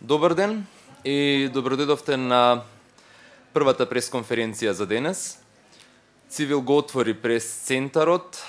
Добар ден и добродојдовте на првата пресконференција за денес. Цивил го отвори прес-центарот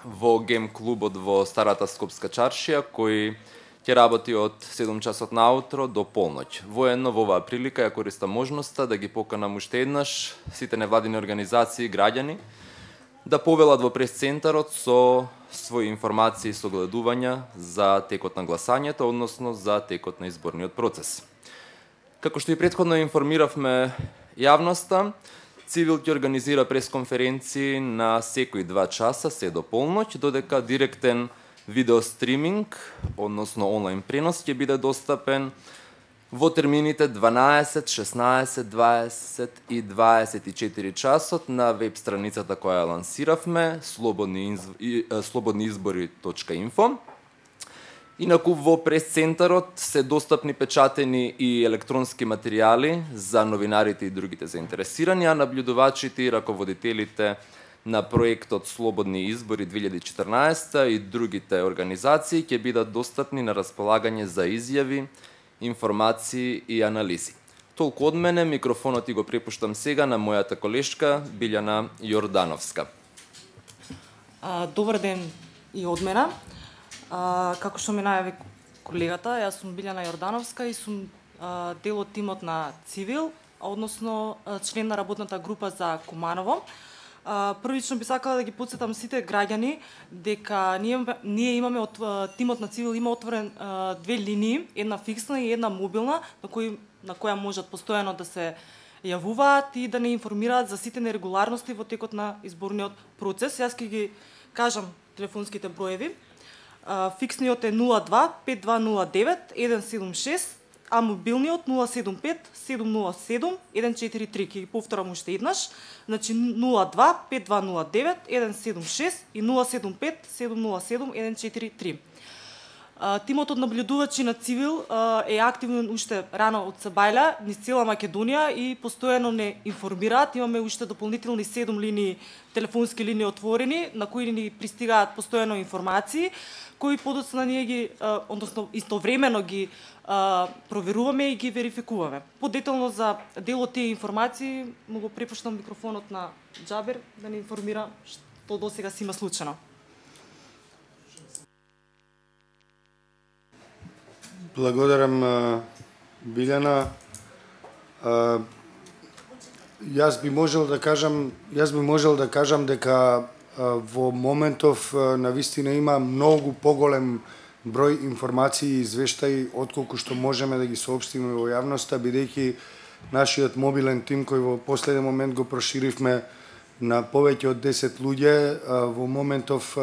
во гем клубот во Старата Скопска чаршија, кој ќе работи од 7 часот наутро до полноќ. Воедно во оваа прилика ја користам можноста да ги поканам уште еднаш сите невладини организации и граѓани да повелат во прес-центарот со своји информации и согледувања за текот на гласањето, односно за текот на изборниот процес. Како што и претходно информиравме јавноста, Цивил ќе организира пресконференции на секои 2 часа, се до полноќ, додека директен видеостриминг, односно онлайн пренос, ќе биде достапен во термините 12, 16, 20 и 24 часот на веб страницата која ја лансиравме, slobodniizbori.info. Инаку во прес-центарот се достапни печатени и електронски материјали за новинарите и другите заинтересирани, а набљудувачите и раководителите на проектот Слободни избори 2014 и другите организации ќе бидат достапни на располагање за изјави, информации и анализи. Толку од мене, микрофонот и го препуштам сега на мојата колешка Билјана Јордановска. Добар ден и од мене. Како што ме најави колегата, јас сум Билјана Јордановска и сум дел од тимот на Цивил, односно член на работната група за Куманово. Првично би сакала да ги потсетам сите граѓани дека ние имаме од тимот на Цивил има отворен 2 линии, една фиксна и една мобилна, на која можат постојано да се јавуваат и да не информираат за сите нерегуларности во текот на изборниот процес. Јас ќе ги кажам телефонските броеви. Фиксниот е 02 5209 176, а мобилниот 075 707 143. Ќе ги повторам уште еднаш. Значи 02 5209 176 и 075 707 143. Тимот од наблюдувачи на Цивил е активен уште рано од Сабајля, низ цела Македонија и постојано не информираат. Имаме уште дополнителни 7 линии, телефонски линии отворени, на кои ни пристигаат постојано информации, кои подоцна ние ги, односно истовремено ги проверуваме и ги верификуваме. Подетално за дел од тие информации, му го препуштам микрофонот на Џабер да ни информира што досега си има случено. Благодарам, Билјана. Јас би можел да кажам дека во моментов навистина има многу поголем број информации и извештаи отколку што можеме да ги соопштиме во јавноста, бидејќи нашиот мобилен тим кој во последен момент го проширивме на повеќе од 10 луѓе, во моментов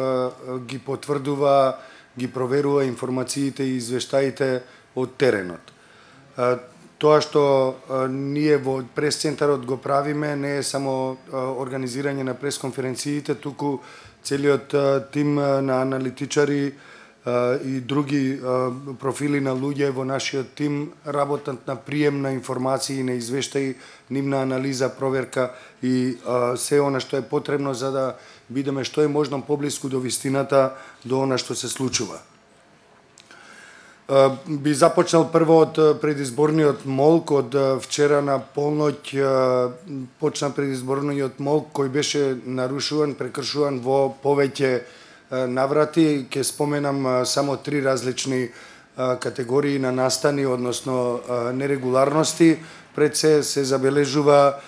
ги потврдува, ги проверува информациите и извештаите од теренот. Тоа што ние во прес-центарот го правиме не е само организирање на пресконференциите, туку целиот тим на аналитичари и други профили на луѓе во нашиот тим работат на прием на информации и на извештаи, нивна анализа, проверка и се она што е потребно за да бидеме што е можно поблиску до вистината, до она што се случува. Би започнал прво од предизборниот молк. Од вчера на полноќ почна предизборниот молк кој беше нарушуван, прекршуван во повеќе наврати. Ке споменам само 3 различни категории на настани, односно нерегуларности. Пред се забележува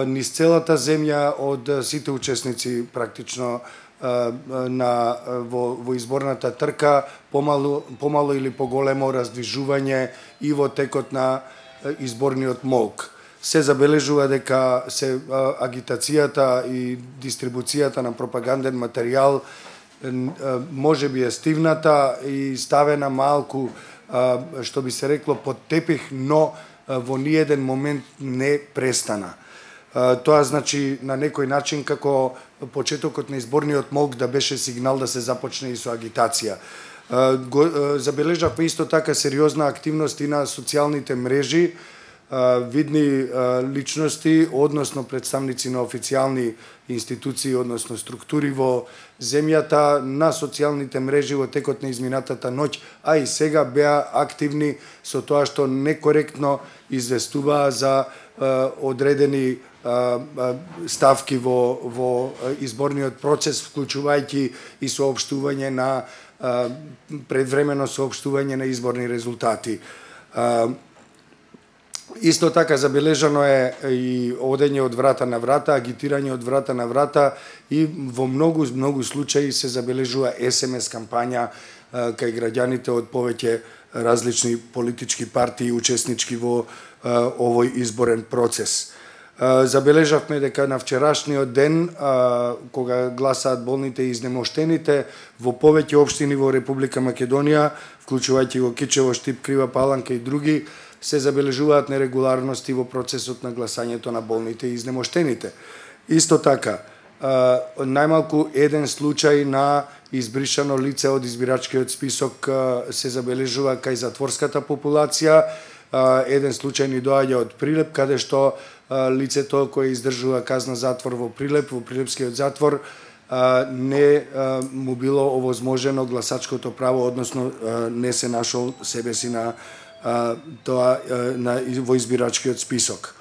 низ целата земја од сите учесници практично во изборната трка, помало или поголемо раздвижување и во текот на изборниот молк. Се забележува дека се агитацијата и дистрибуцијата на пропаганден материјал може би е стивната и ставена малку, што би се рекло, под тепих, но во ниеден момент не престана. Тоа значи на некој начин како почетокот на изборниот молк да беше сигнал да се започне и со агитација. Забележавме исто така сериозна активност и на социјалните мрежи. видни личности, односно представници на официјални институции, односно структури во земјата, на социјалните мрежи во текот на изминатата ноќ, а и сега беа активни со тоа што некоректно известуваа за одредени ставки во изборниот процес, вклучувајќи и соопштување на предвремено соопштување на изборни резултати. Исто така забележано е и одење од врата на врата, агитирање од врата на врата и во многу случаи се забележува СМС кампања кај граѓаните од повеќе различни политички партии учеснички во овој изборен процес. Забележавме дека на вчерашниот ден, кога гласаат болните и изнемоштените, во повеќе општини во Република Македонија, вклучувајќи го Кичево, Штип, Крива Паланка и други, се забележуваат нерегуларности во процесот на гласањето на болните и изнемоштените. Исто така, најмалку еден случај на избришано лице од избирачкиот список се забележува кај затворската популација. Еден случај ни доаѓа од Прилеп, каде што лицето кое издржува казна затвор во Прилеп, во Прилепскиот затвор, не му било овозможено гласачкото право, односно не се нашол себе си на тоа во избирачкиот список.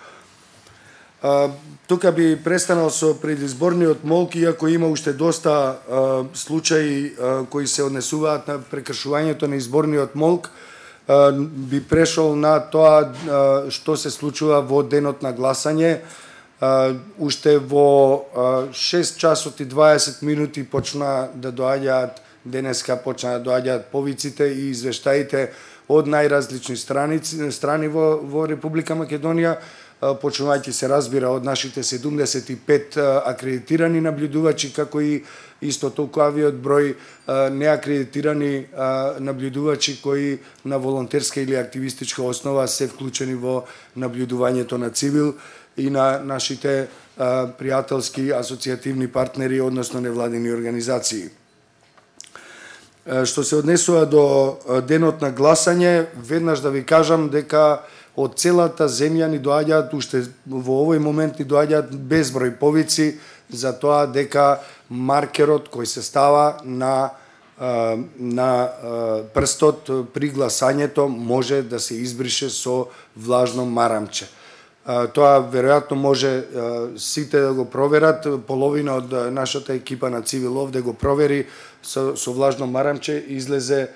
Тука би престанал со предизборниот молк, иако има уште доста случаи кои се однесуваат на прекршувањето на изборниот молк, би прешол на тоа што се случува во денот на гласање. Уште во 6 часот и 20 минути почна да доаѓаат, денеска почна да доаѓаат повиците и извештаите од најразлични страни во Република Македонија, почнувајќи се разбира од нашите 75 акредитирани наблюдувачи, како и исто толкувавиот број неакредитирани наблюдувачи кои на волонтерска или активистичка основа се вклучени во наблюдувањето на цивил и на нашите пријателски асоцијативни партнери, односно невладини организации. Што се однесува до денот на гласање, веднаш да ви кажам дека од целата земја ни доаѓаат, уште во овој момент ни доаѓаат безброј повици за тоа дека маркерот кој се става на прстот при гласањето може да се избрише со влажно марамче. Тоа веројатно може сите да го проверат, половина од нашата екипа на Цивил овде го провери со влажно марамче, излезе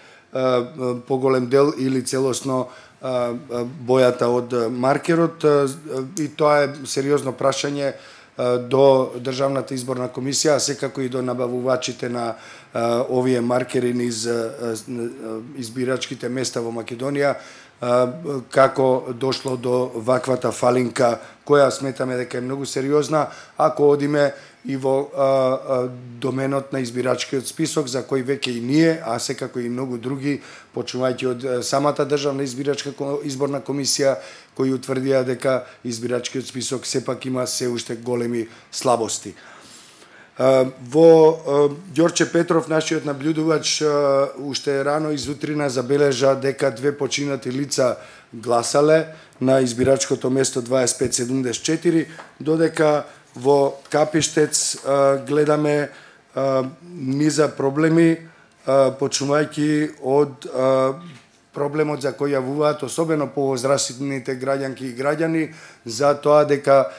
поголем дел или целосно бојата од маркерот, и тоа е сериозно прашање до Државната изборна комисија, а секако и до набавувачите на овие маркери низ избирачките места во Македонија, како дошло до ваквата фалинка, која сметаме дека е многу сериозна, ако одиме и во доменот на избирачкиот список, за кој веќе и ние, а секако и многу други, почнувајќи од самата Државна изборна комисија, кои утврдија дека избирачкиот список сепак има се уште големи слабости. Во Ѓорче Петров, нашиот наблюдувач, уште рано изутрина забележа дека 2 починати лица гласале на избирачкото место 2574, додека во Капиштец гледаме низа проблеми, почнувајќи од проблемот за кој јавуваат особено повозрастните граѓанки и граѓани, за тоа дека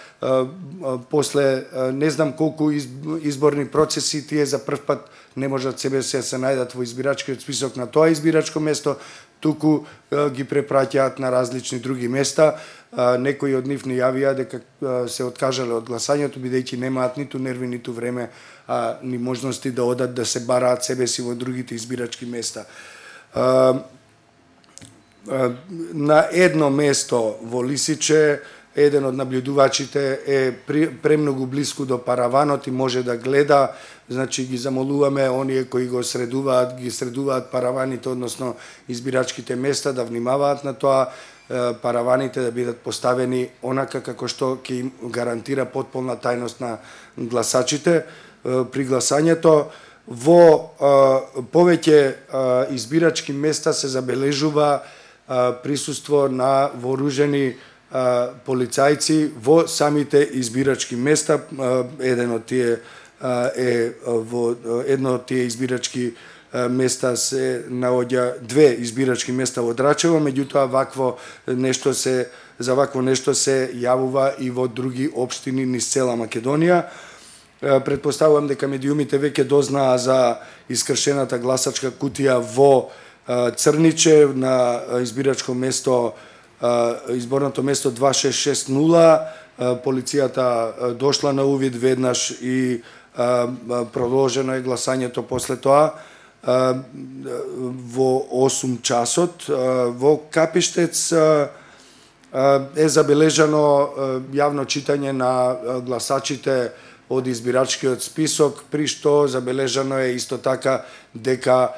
после не знам колку изборни процеси, тие за прв пат не можат себе се најдат во избирачкиот список на тоа избирачко место, туку ги препраќаат на различни други места. Некои од нив не јавија дека се откажале од гласањето, бидејќи немаат ниту нерви, ниту време, ни можности да одат да се бараат себе си во другите избирачки места. На едно место во Лисиче, еден од наблюдувачите е премногу блиску до параванот и може да гледа, значи ги замолуваме оние кои ги средуваат параваните, односно избирачките места, да внимаваат на тоа, параваните да бидат поставени онака како што ќе им гарантира потполна тајност на гласачите при гласањето. Во повеќе избирачки места се забележува присуство на вооружени полицајци во самите избирачки места. Едно од тие избирачки места се наоѓа, 2 избирачки места во Драчево, меѓутоа за вакво нешто се јавува и во други општини низ цела Македонија. Предпоставувам дека медиумите веќе дознаа за искршената гласачка кутија во Црниче на избирачко место, изборното место 2660. Полицијата дошла на увид веднаш и продолжено е гласањето после тоа во 8 часот. Во Капиштец е забележано јавно читање на гласачите од избирачкиот список, при што забележано е исто така дека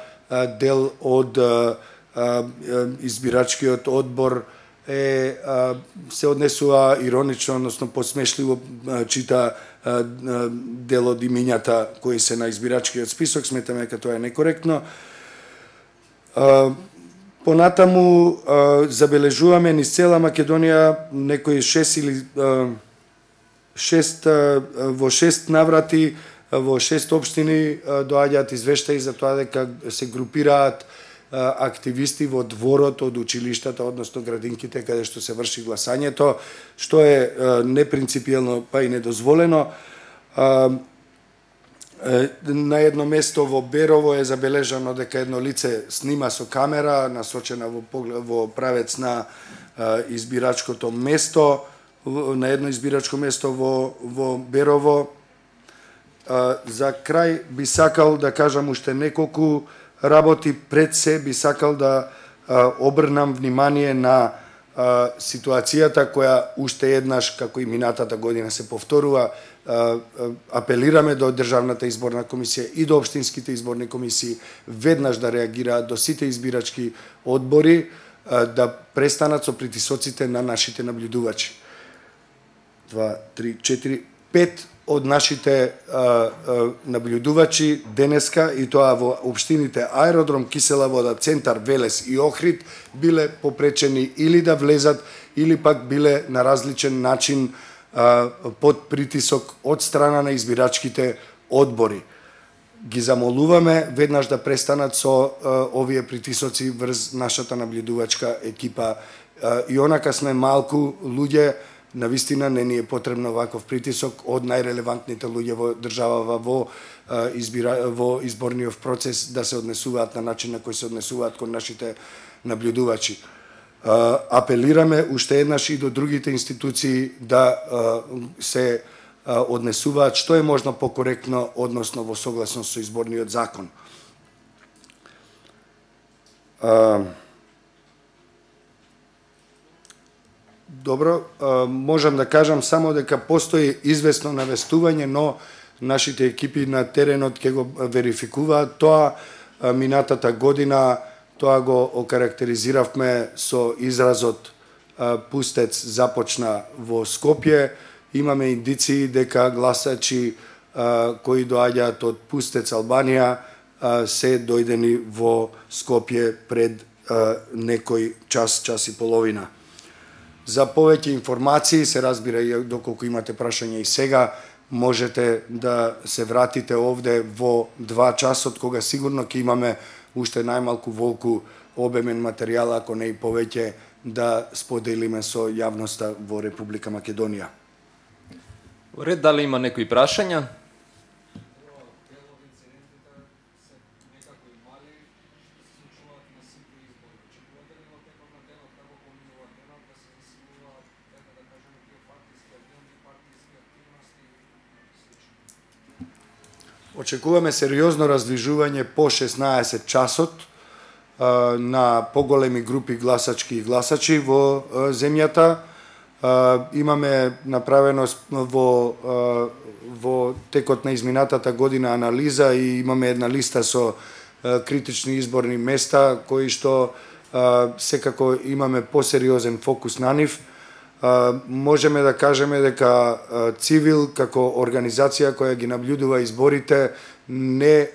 дел од избирачкиот одбор се однесува иронично, односно посмешливо чита дел од имињата кои се на избирачкиот список. Сметаме дека тоа е некоректно. Понатаму забележуваме низ цела Македонија некои 6 наврати во 6 општини доаѓаат извештаи за тоа дека се групираат активисти во дворот од училиштата, односно градинките каде што се врши гласањето, што е непринципиелно па и недозволено. На едно место во Берово е забележано дека едно лице снима со камера насочена во правец на избирачкото место, на едно избирачко место во Берово. За крај би сакал да кажам уште неколку работи. Пред се би сакал да обрнам внимание на ситуацијата која уште еднаш, како и минатата година, се повторува. Апелираме до Државната изборна комисија и до општинските изборни комисии веднаш да реагираат, до сите избирачки одбори да престанат со притисоците на нашите наблюдувачи. 2, 3, 4, 5 од нашите наблюдувачи денеска, и тоа во општините Аеродром, Кисела Вода, Центар, Велес и Охрид, биле попречени или да влезат, или пак биле на различен начин под притисок од страна на избирачките одбори. Ги замолуваме веднаш да престанат со овие притисоци врз нашата наблюдувачка екипа. И онака сме малку луѓе, навистина не ни е потребно ваков притисок од најрелевантните луѓе во државава во изборниот процес да се однесуваат на начин на кој се однесуваат кон нашите наблюдувачи. Апелираме уште еднаш и до другите институции да се однесуваат што е можно покоректно, односно во согласност со изборниот закон. Добро, можам да кажам само дека постои известно навестување, но нашите екипи на теренот ќе го верификуваат тоа. Минатата година тоа го окарактеризиравме со изразот пустец започна во Скопје. Имаме индиции дека гласачи кои доаѓаат од пустец Албанија се дојдени во Скопје пред некој час и половина. За повеќе информации, се разбира и доколку имате прашања и сега, можете да се вратите овде во 2 часот, кога сигурно ќе имаме уште најмалку волку обемен материјал, ако не и повеќе, да споделиме со јавноста во Република Македонија. Во ред, дали има некои прашања? Очекуваме сериозно раздвижување по 16 часот на поголеми групи гласачки и гласачи во земјата. Имаме направено во текот на изминатата година анализа и имаме една листа со критични изборни места кои што секако имаме посериозен фокус на нив. Можеме да кажеме дека Цивил како организација која ги наблюдува изборите не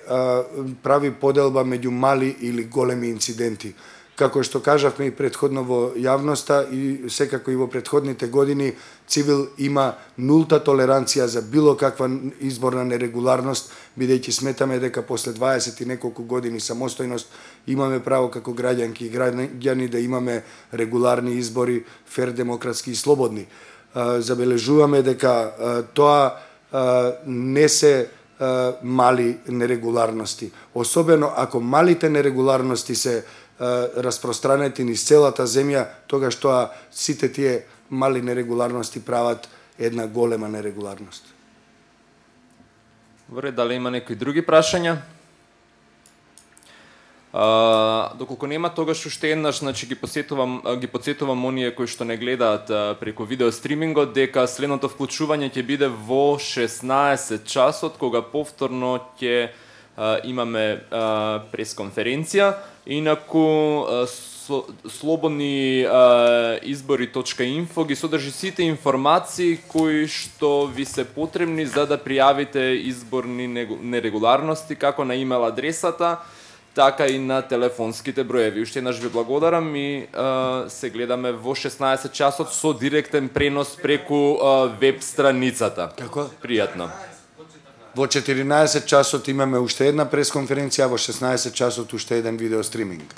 прави поделба меѓу мали или големи инциденти. Како што кажавме и претходно во јавноста и секако и во претходните години, Цивил има нулта толеранција за било каква изборна нерегуларност, бидејќи сметаме дека после 20 и неколку години самостојност имаме право како граѓанки и граѓани да имаме регуларни избори, фер, демократски и слободни. Забележуваме дека тоа не се мали нерегуларности. Особено ако малите нерегуларности се распространети низ целата земја, тогаш тоа сите тие мали нерегуларности прават една голема нерегуларност. Добре, дали има некои други прашања? Доколку нема, тогаш уште еднаш, значи ги потсетувам оние кои што не гледаат преку видео стримингот, дека следното вклучување ќе биде во 16 часот, кога повторно ќе имаме пресконференција. Инаку слободни избори.info ги содржи сите информации кои што ви се потребни за да пријавите изборни нерегуларности, како на имейл адресата, така и на телефонските броеви. Уште еднаш ви благодарам и се гледаме во 16 часот со директен пренос преку веб страницата. Како? Пријатно. Во 14 часот имаме уште една пресконференција, во 16 часот уште еден видео стриминг.